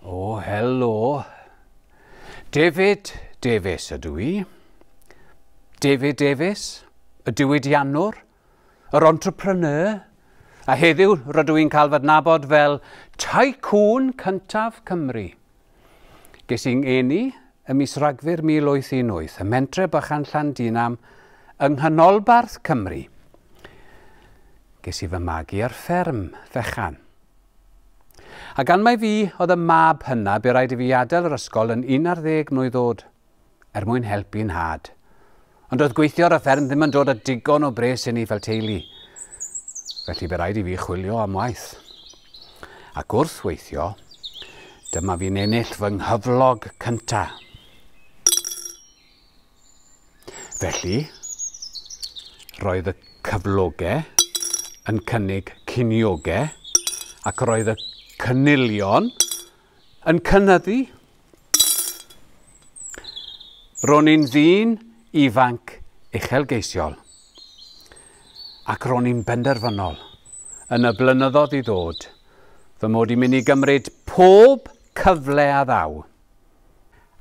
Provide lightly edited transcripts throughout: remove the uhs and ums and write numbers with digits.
O, helo. David Davies ydw i. David Davies, y diwydiannwr, yr entrepreneur, a heddiw rydw i'n cael fy adnabod fel Tycoon cyntaf Cymru. Ges i'n eni ym mis Rhagfyr 1818, ym mhentre bychan Llandinam yng nghanolbarth Cymru. Ges i fy magu ar fferm fechan. A gan mai fi oedd y mab hynna, bu raid i fi adael yr ysgol yn 11 mlwydd oed, er mwyn helpu 'nhad. Ond doedd gweithio ar y fferm ddim yn dod â digon o bres i ni fel teulu. Felly bu raid i fi chwilio am waith. Ac wrth weithio, dyma fi'n ennill fy nghyflog cynta. Felly, roedd y cyflogau yn cynnig ciniogau ac roedd y cynilion yn cynyddu. Ro'n i'n ddyn ifanc uchelgeisiol ac ro'n i'n benderfynol yn y blynyddoedd i ddod fy mod i'n mynd i gymryd pob cyfle a ddaw.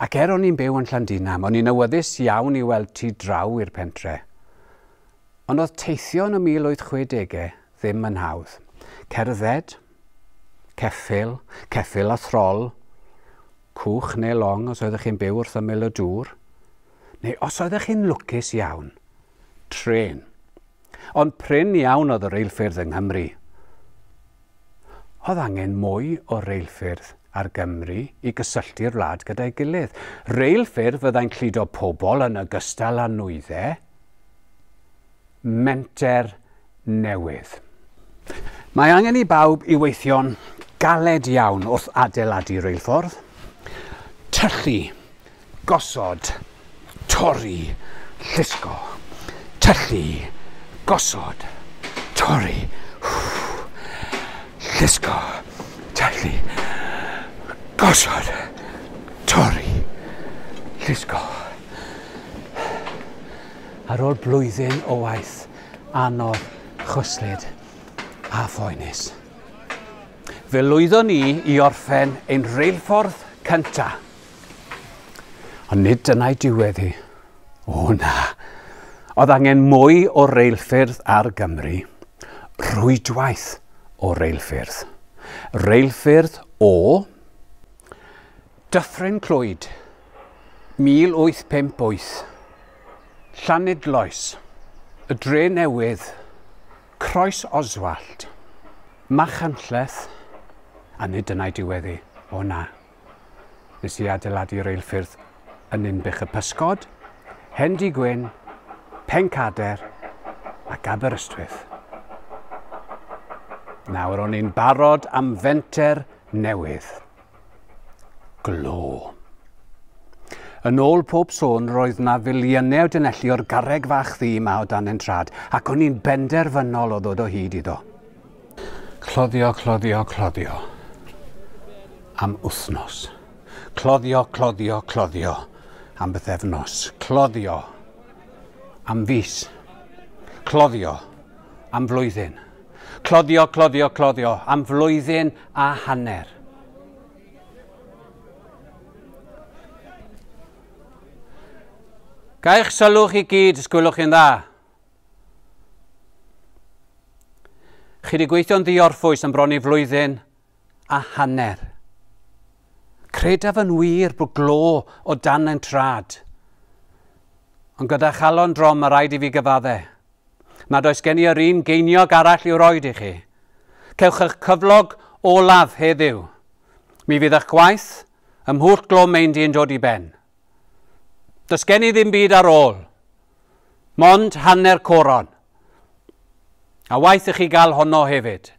Ac er o'n i'n byw yn Llandinam, o'n i'n awyddus iawn i weld tu draw i'r pentre. Ond oedd teithio yn y 1860au ddim yn hawdd. Cerdded, ceffyl, ceffyl a throl, cwch neu long os oeddech chi'n byw wrth ymyl y dŵr, neu os oeddech chi'n lwcus iawn, trên. Ond prin iawn oedd y reilffyrdd yng Nghymru. Oedd angen mwy o reilffyrdd ar Gymru i gysylltu'r wlad gyda'i gilydd. Reilffyrdd fyddai'n cludo pobl yn ogystal â nwyddau. Menter newydd. Mae angen i bawb i weithio'n galed iawn wrth adeiladu reilffordd. Tyllu, gosod, torri, llusgo. Tyllu, gosod, torri, llusgo, tyllu, gosod, torri, llusgo. Ar ôl blwyddyn o waith anodd, chwyslyd a phoenus, fe lwyddon ni i orffen ein reilffordd cynta. Ond nid dyna'i diwedd hi. O na. Oedd angen mwy o reilffyrdd ar Gymru. Rwydwaith o reilffyrdd. Reilffyrdd o Dyffryn Clwyd, 1858, Llanidloes, y Dre Newydd, Croes Oswallt, Machynlleth, a nid dyna'i diwedd hi. O na. Nes i adeiladu reilffyrdd yn Ninbych y Pysgod, Hendy Gwyn, Pencader ac Aberystwyth. Nawr o'n i'n barod am fenter newydd. Glo. Yn ôl pob sôn, roedd na filiynau o dunelli o'r garreg fach ddu 'ma o dan ein trad, ac o'n i'n benderfynol o ddod o hyd iddo. Cloddio, cloddio, cloddio. Am wythnos. Cloddio, cloddio, cloddio. Am bythefnos. Cloddio. Am fis. Cloddio. Am flwyddyn. Cloddio, cloddio, cloddio. Am flwyddyn a hanner. Ga i'ch sylw chi gyd, os gwelwch chi'n dda. Chi wedi gweithio'n ddiorffwys am bron i flwyddyn a hanner. Credaf yn wir bod glo o dan ein trad. Ond gyda chalon drom mae rhaid i fi gyfadde. Nad oes gen i yr un geiniog arall i'w roed i chi. Cewch eich cyflog olaf heddiw. Mi fydd eich gwaith ym Mhwll Glo Meindy yn dod i ben. Does gen i ddim byd ar ôl. Mond hanner coron. A waeth i chi gael honno hefyd.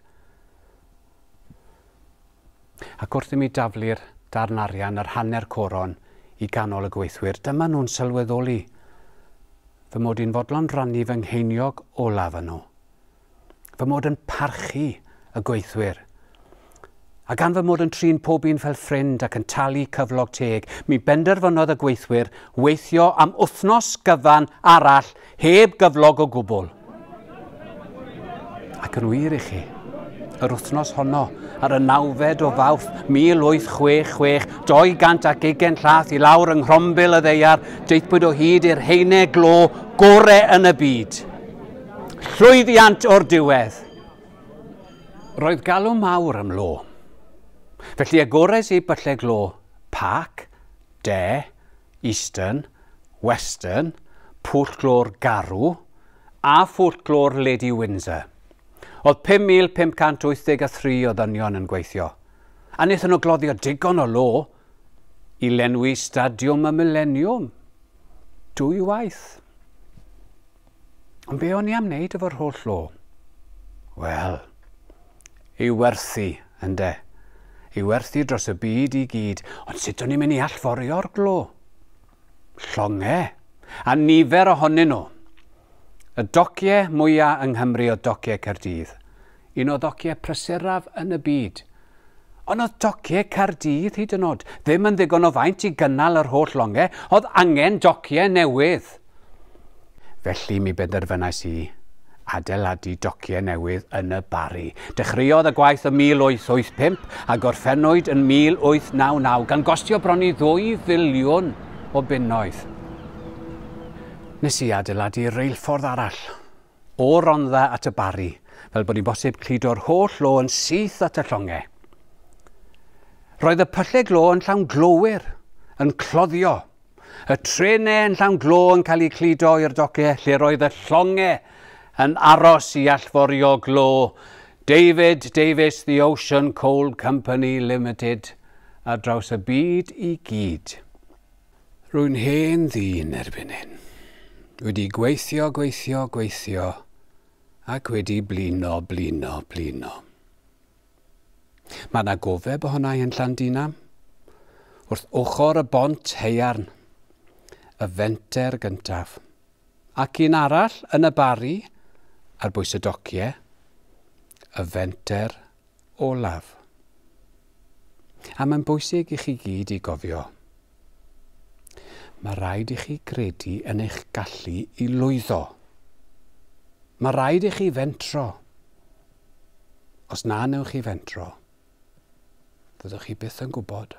Ac wrth i mi daflu'r darn arian, yr hanner coron, i ganol y gweithwyr, dyma nhw'n sylweddoli fy mod i'n fodlon rannu fy ngheiniog olaf â nhw. Fy mod yn parchu y gweithwyr. A gan fy mod yn trin pob un fel ffrind ac yn talu cyflog teg, mi benderfynodd y gweithwyr weithio am wythnos gyfan arall heb gyflog o gwbl. Ac yn wir i chi, Yr wythnos honno, ar y nawfed o Fawrth 1866, 220 llath i lawr yng nghrombil y ddaear, daethpwyd o hyd i'r haenau glo gore yn y byd. Llwyddiant o'r diwedd! Roedd galw mawr am lo. Felly agores i byllau glo Park, De, Eastern, Western, Pwll Glo'r Garw a Phwll Glo'r Lady Windsor. Oedd 5,583 o ddynion yn gweithio, a wnaethon nhw gloddio digon o lo i lenwi Stadiwm y Mileniwm dwywaith. Ond be o'n i am wneud efo'r holl lo? Wel, ei werthu, ynde. Ei werthu dros y byd i gyd. Ond sut o'n i'n mynd i allforio'r glo? Llongau. A nifer ohonyn nhw. Y dociau mwyaf yng Nghymru oedd dociau Caerdydd. Un o ddociau prysuraf yn y byd. Ond oedd dociau Caerdydd hyd yn oed ddim yn ddigon o faint i gynnal yr holl longau, oedd angen dociau newydd. Felly mi benderfynais i adeiladu dociau newydd yn y Barri. Dechreuodd y gwaith ym 1885 a gorffennwyd yn 1899 gan gostio bron i ddwy filiwn o bunnoedd. Nes i adeiladu reilffordd arall o Rondda at y Barri, fel bod hi'n bosib cludo'r holl lo yn syth at y llongau. Roedd y pyllau glo yn llawn glowyr, yn cloddio. Y trenau yn llawn glo yn cael eu cludo i'r dociau lle roedd y llongau yn aros i allforio glo. David Davies, The Ocean Coal Company Limited, ar draws y byd i gyd. Rwy'n hen ddyn erbyn hyn. Wedi gweithio, gweithio, gweithio, ac wedi blino, blino, blino. Mae yna gofeb ohona i yn Llandinam, wrth ochr y bont haearn, y fenter gyntaf. Ac un arall yn y Barri, ar bwys y dociau, y fenter olaf. A mae'n bwysig i chi gyd i gofio. Mae rhaid i chi gredu yn eich gallu i lwyddo. Mae rhaid i chi fentro. Os na newch chi fentro, fyddwch chi byth yn gwybod.